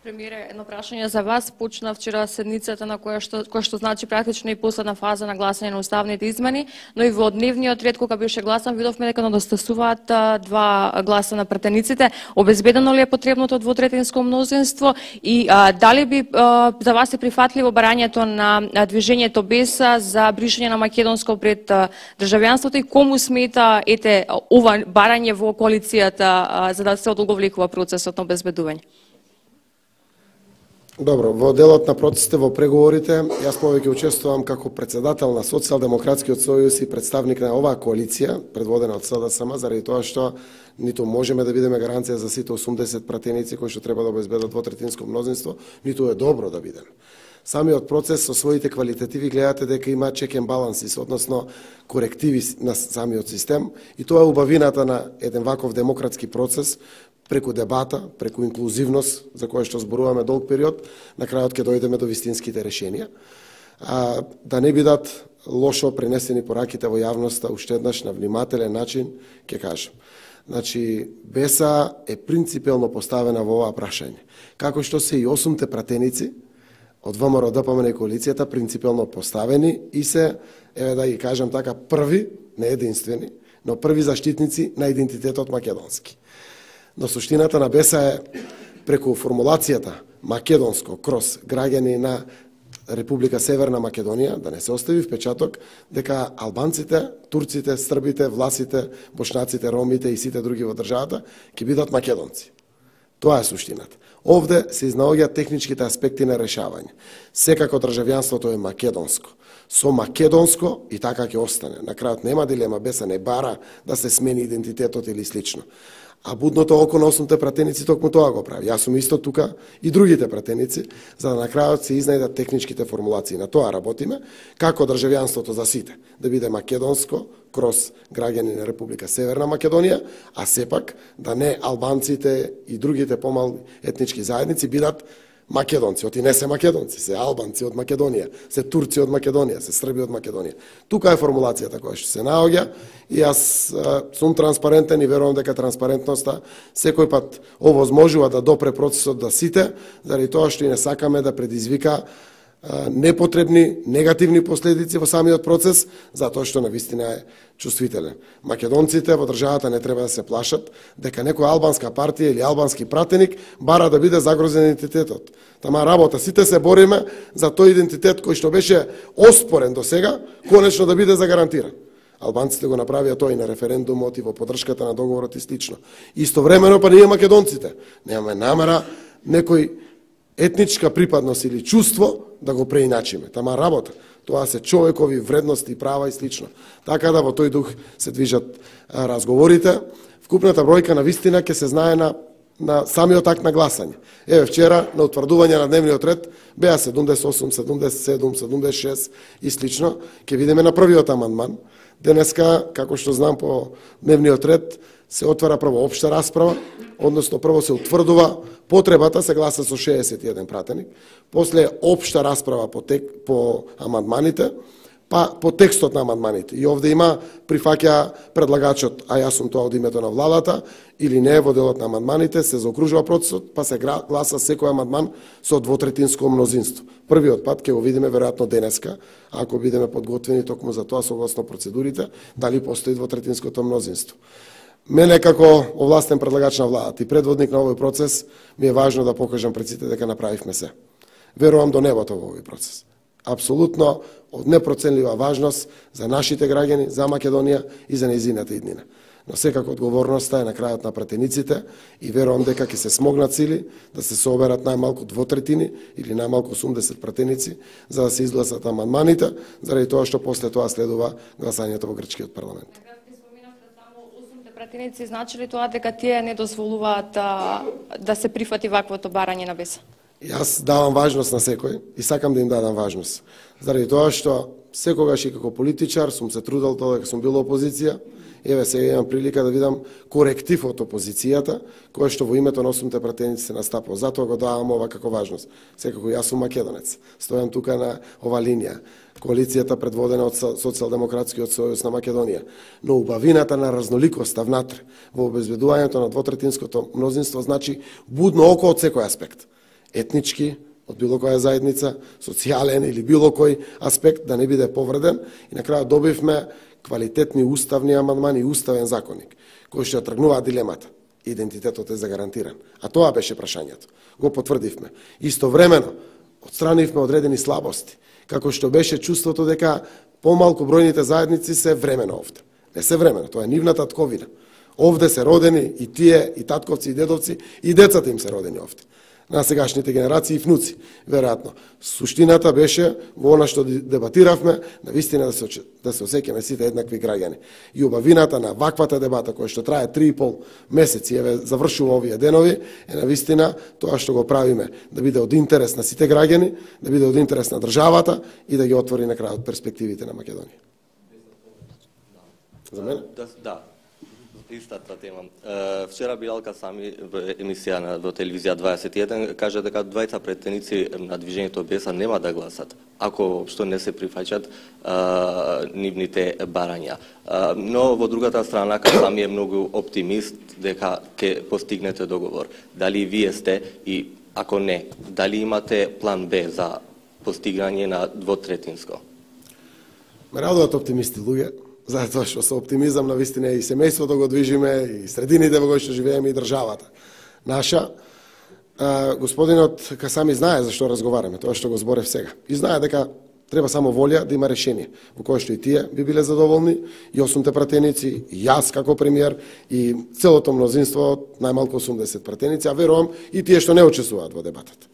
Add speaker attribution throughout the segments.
Speaker 1: Премиере, едно прашање за вас. Почна вчера седницата на која што значи практично и последна фаза на гласање на уставните измени, но и во дневниот ред кога беше гласан видовме дека недостасуваат 2 гласа на пратениците. Обезбедено ли е потребното двотретинско мнозинство и дали би за вас е прифатливо барањето на движењето БЕСА за бришање на македонско пред државјанството и кому смета ова барање во коалицијата за да се одолговлекува процесот на обезбедување?
Speaker 2: Добро, во делот на процесите во преговорите, јас повеќе учествувам како председател на Социјалдемократскиот сојуз и представник на оваа коалиција, предводена од СДСМ, заради тоа што ниту можеме да бидеме гаранција за сите 80 пратеници кои што треба да обезбедат двотретинско мнозинство, ниту е добро да бидеме. Самиот процес со своите квалитативи гледате дека има check and balances, односно корективи на самиот систем, и тоа е убавината на еден ваков демократски процес, преку дебата, преку инклузивност, за која што зборуваме долг период, на крајот ќе дојдеме до вистинските решенија. Да не бидат лошо пренесени пораките во јавноста, уште еднаш на внимателен начин, ќе кажам. Значи, БЕСА е принципелно поставена во ова прашање. Како што се и 8 пратеници од ВМРО, ДПМН и коалицијата принципелно поставени и се, еве да ги кажам така, први, не единствени, но први заштитници на идентитетот македонски. Но суштината на БЕСА е преку формулацијата македонско кроз граѓани на Република Северна Македонија, да не се остави впечаток дека албанците, турците, србите, власите, бошнаците, ромите и сите други во државата ќе бидат македонци. Тоа е суштината. Овде се изнаоѓаат техничките аспекти на решавање. Секако државјанството е македонско. Со македонско и така ќе остане. На крајот нема дилема, БЕСА не бара да се смени идентитетот или слично. А будното око на 8 пратеници токму тоа го прави. Јас сум исто тука и другите пратеници, за да на крајот се изнајдат техничките формулации. На тоа работиме, како државјанството за сите, да биде македонско, кроз граѓани на Република Северна Македонија, а сепак да не албанците и другите помални етнички заедници бидат македонци, оти не се македонци, се албанци од Македонија, се турци од Македонија, се срби од Македонија. Тука е формулацијата која што се наоѓа и јас сум транспарентен и верувам дека транспарентноста секој пат овозможува да допре процесот да сите, заради тоа што и не сакаме да предизвика непотребни, негативни последици во самиот процес, затоа што навистина е чувствителен. Македонците во државата не треба да се плашат дека некоја албанска партија или албански пратеник бара да биде загрозен идентитетот. Тама работа, сите се бориме за тој идентитет кој што беше оспорен до сега, конечно да биде загарантиран. Албанците го направија тоа и на референдумот и во поддршката на договорот и слично. Истовремено па ние македонците немаме намера некој етничка припадност или чувство да го преиначиме. Тама работа, тоа се човекови вредности, права и слично. Така да во тој дух се движат разговорите. Вкупната бројка на вистина ќе се знае на самиот акт на гласање. Еве вчера на утврдување на дневниот ред беа 78, 77, 76 и слично. Ќе видиме на првиот амандман. Денеска, како што знам по дневниот ред, се отвара прво општа расправа, односно прво се утврдува потребата, се гласа со 61 пратеник, после општа расправа по амандманите, па по текстот на амандманите. И овде има прифаќа предлагачот, а јас сум тоа од името на владата, или не во делот на амандманите, се заокружува процесот, па се гласа секој амандман со двотретинско мнозинство. Првиот пат ќе го видиме веројатно денеска, ако бидеме подготвени токму за тоа согласно процедурите, дали постои двотретинското мнозинство. Мене како овластен предлагач на владата и предводник на овој процес ми е важно да покажам пред сите дека направивме се. Верувам до небото во овој процес. Апсолутно од непроценлива важност за нашите граѓани, за Македонија и за нејзината иднина. Но секако одговорноста е на крајот на пратениците и верувам дека ќе се смогнат сили да се соберат најмалку двотретини или најмалку 80 пратеници за да се изгласат амандманите, заради тоа што после тоа следува гласањето во грчкиот парламент.
Speaker 1: Пратеници, значи ли тоа дека тие не дозволуваат да се прифати ваквото барање на БЕСА?
Speaker 2: Јас давам важност на секој и сакам да им дадам важност. Заради тоа што секогаш и како политичар сум се трудел дека сум бил опозиција. Еве сега имам прилика да видам коректив од опозицијата, кој што во името на 8 пратеници се настапува. Затоа го давам ова како важност. Секако јас сум македонец. Стојам тука на ова линија. Коалицијата предводена од Социјалдемократскиот сојуз на Македонија. Но убавината на разноликоста внатре во обезбедувањето на двотретинското мнозинство значи будно око од секој аспект. етнички, од било која заедница, социјален или било кој аспект да не биде повреден и на крајот добивме квалитетни уставни амандмани и уставен законник, кој што тргнува дилемата. Идентитетот е загарантиран. А тоа беше прашањето. Го потврдивме. Истовремено, отстранивме одредени слабости, како што беше чувството дека помалку бројните заедници се времено овде. Не се времено, тоа е нивната татковина. Овде се родени и тие, и татковци, и дедовци, и децата им се родени овде. На сегашните генерации и внуци, веројатно. Суштината беше во она што дебатиравме, навистина да се осеќаме сите еднакви граѓани. И убавината на ваквата дебата, која што трае 3,5 месеци, еве завршува овие денови, е навистина тоа што го правиме, да биде од интерес на сите граѓани, да биде од интерес на државата и да ги отвори на крајот перспективите на Македонија. За мене?
Speaker 3: Да. Истата тема. Вчера Билалка Сами во емисија во телевизија 21 кажа дека двајца претеници на движењето Беса нема да гласат ако што не се прифаќат нивните барања. Но во другата страна Сами е многу оптимист дека ќе постигнете договор. Дали вие сте и ако не, дали имате план Б за постигање на двотретинско?
Speaker 2: Ме радуват оптимисти луѓе. Затоа што со оптимизам на вистина и семејството го движиме, и средините во кои што живееме, и државата наша. Господинот Касами знае зашто разговараме, тоа што го зборев сега. И знае дека треба само волја да има решение, во кое што и тие би биле задоволни, и 8 пратеници, и јас како премиер, и целото мнозинство, најмалку 80 пратеници, а верувам и тие што не учествуваат во дебатата.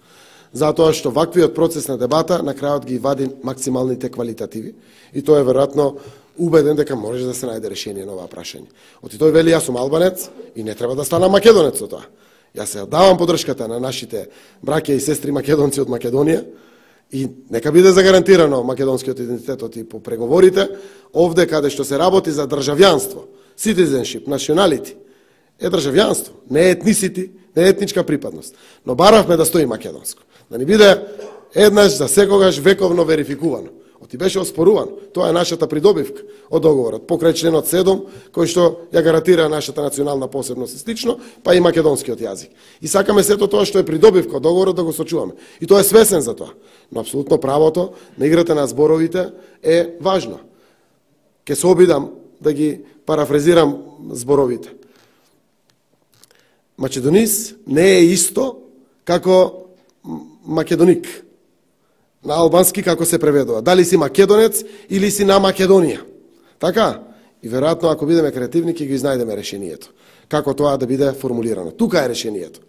Speaker 2: Затоа што ваквиот процес на дебата на крајот ги вади максималните квалитативи, и тоа е веројатно убеден дека може да се најде решение на оваа прашање. Оти тој вели, јас сум албанец и не треба да станам македонец со тоа. Јас се давам подршката на нашите браќа и сестри македонци од Македонија и нека биде загарантирано македонскиот идентитет и по преговорите, овде каде што се работи за државјанство, citizenship, nationality, е државјанство, не е етнисити, не е етничка припадност. Но баравме да стои македонско. Да ни биде еднаш за секогаш вековно верификувано. Оти беше оспоруван. Тоа е нашата придобивка од договорот, покрај членот 7, кој што ја гарантира нашата национална посебност и слично, па и македонскиот јазик. И сакаме сето тоа што е придобивка од договорот да го сочуваме. И тоа е свесен за тоа. Но апсолутно правото на играта на зборовите е важно. Ке се обидам да ги парафразирам зборовите. Македонис не е исто како македоник. На албански како се преведува. Дали си македонец или си на Македонија. Така? И веројатно ако бидеме креативни ќе ги знајдеме решението. Како тоа да биде формулирано. Тука е решението.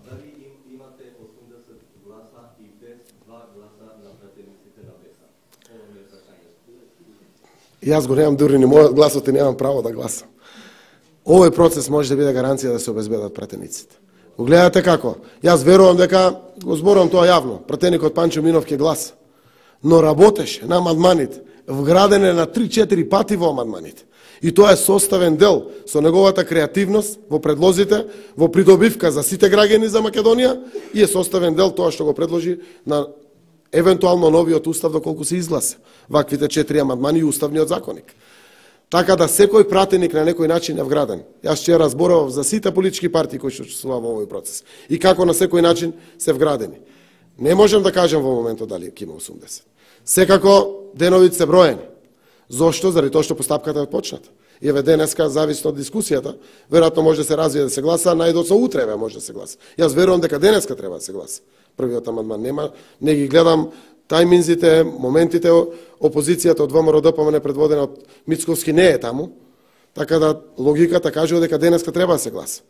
Speaker 3: Дали имате 80 гласа и без 2 гласа на пратениците на Беса? Ова ми е прашањето.
Speaker 2: Јас го немам дури ни мојот гласот и немам право да гласам. Овој процес може да биде гаранција да се обезбедат пратениците. Го гледате како? Јас верувам дека, го зборувам тоа јавно, пратеникот Панчо Минов ќе гласа. Но работеше на амандманите, вграден е на 3-4 пати во амандманите. И тоа е составен дел со неговата креативност во предлозите, во придобивка за сите граѓани за Македонија и е составен дел тоа што го предложи на евентуално новиот устав доколку се изгласа. Ваквите 4 амандмани и уставниот законник. Така да секој пратеник на некој начин е вграден. Јас вчера зборував за сите политички партии кои што учествуваа во овој процес и како на секој начин се вградени. Не можам да кажам во моментот дали ќе има 80. Секако деновите се броени. Зошто? Заради тоа што постапката е почната. И еве денеска, зависно од дискусијата, веројатно може да се развие да се гласа, најдоцо утре може да се гласа. Јас верувам дека денеска треба да се гласа. Првиот амандман нема, не ги гледам тајминзите, моментите, опозицијата од ВМРО-ДПМН предводена од Мицковски не е таму, така да логиката кажува дека денеска треба да се гласа.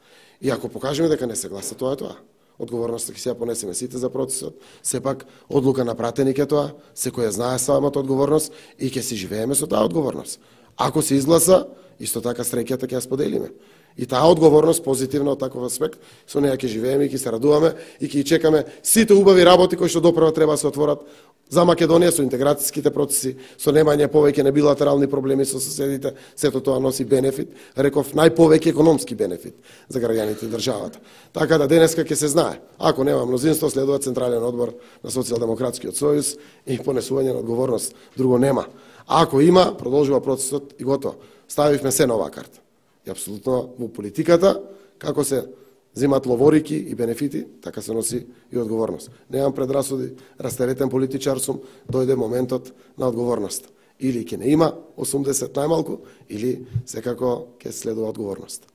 Speaker 2: И ако покажеме дека не се гласа, тоа е тоа. Одговорноста ќе се ја понесеме сите за процесот, сепак одлука на пратеник е тоа, секој ја знае самата одговорност и ќе си живееме со таа одговорност. Ако се изгласа, исто така среќата ќе ја споделиме. И таа одговорност позитивна од таков аспект, со неја ќе живееме и ќе се радуваме и ќе чекаме сите убави работи кои што допрва треба да се отворат за Македонија со интеграцијските процеси, со немање повеќе на билатерални проблеми со соседите, сето тоа носи бенефит, реков најповеќе економски бенефит за граѓаните и државата. Така да денеска ќе се знае, ако нема мнозинство, следува Централен одбор на Социјалдемократскиот сојуз и понесување на одговорност, друго нема. А ако има, продолжува процесот и готово. Ставивме се на оваа карта. И апсолутно во политиката, како се зимат ловорики и бенефити, така се носи и одговорност. Немам предрасуди, растеретен политичар сум, дојде моментот на одговорност. Или ќе не има 80 најмалку, или секако ќе следува одговорност.